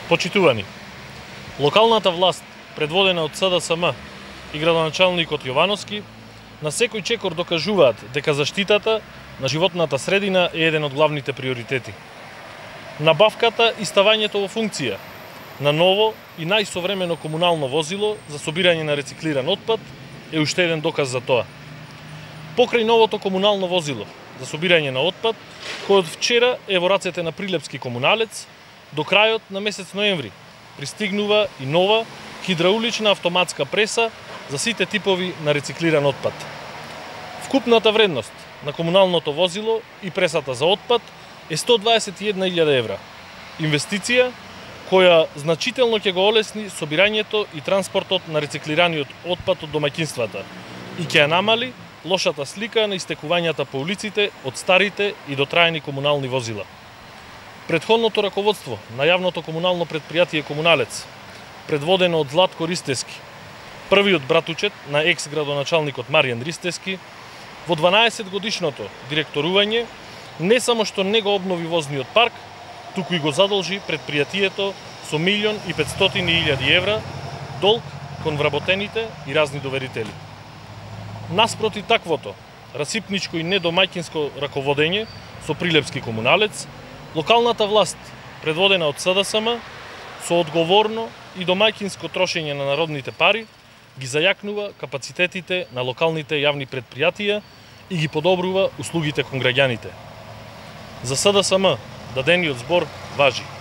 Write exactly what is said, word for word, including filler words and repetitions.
Почитувани, локалната власт, предводена од С Д С М и градоначалникот Јовановски, на секој чекор докажуваат дека заштитата на животната средина е еден од главните приоритети. Набавката и ставањето во функција на ново и најсовремено комунално возило за собирање на рециклиран отпад е уште еден доказ за тоа. Покрај новото комунално возило за собирање на отпад, кој од вчера е во рацете на Прилепски комуналец, до крајот на месец ноември пристигнува и нова хидраулична автоматска преса за сите типови на рециклиран отпад. Вкупната вредност на комуналното возило и пресата за отпад е сто дваесет и една илјада евра. Инвестиција која значително ќе го олесни собирањето и транспортот на рециклираниот отпад од домаќинствата и ќе ја намали лошата слика на истекувањата по улиците од старите и дотраени комунални возила. Претходното раководство на јавното комунално предпријатие Комуналец, предводено од Златко Ристевски, првиот братучет на екс-градоначалникот Маријан Ристевски, во дванаесет годишното директорување не само што не го обнови возниот парк, туку и го задолжи предпријатието со милион и петстотини илјади евра долг кон вработените и разни доверители. Наспроти таквото расипничко и недомаќинско раководење со Прилепски комуналец, локалната власт, предводена од С Д С М, со одговорно и домаќинско трошење на народните пари, ги зајакнува капацитетите на локалните јавни предпријатија и ги подобрува услугите кон граѓаните. За С Д С М дадениот збор важи.